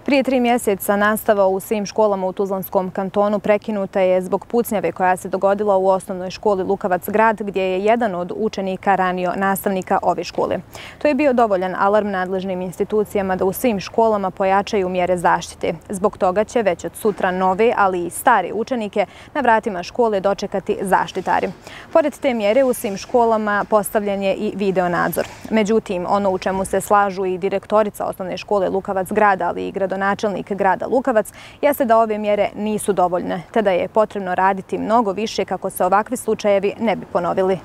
Prije 3 mjeseca nastava u svim školama u Tuzlanskom kantonu prekinuta je zbog pucnjave koja se dogodila u osnovnoj školi Lukavac grad, gdje je jedan od učenika ranio nastavnika ove škole. To je bio dovoljan alarm nadležnim institucijama da u svim školama pojačaju mjere zaštite. Zbog toga će već od sutra nove, ali i stare učenike na vratima škole dočekati zaštitari. Pored te mjere u svim školama postavljen je i video nadzor. Međutim, ono u čemu se slažu i direktorica osnovne škole Lukavac grada, ali i gradonačelnik grada Lukavac, jeste da ove mjere nisu dovoljne, te da je potrebno raditi mnogo više kako se ovakvi slučajevi ne bi ponovili.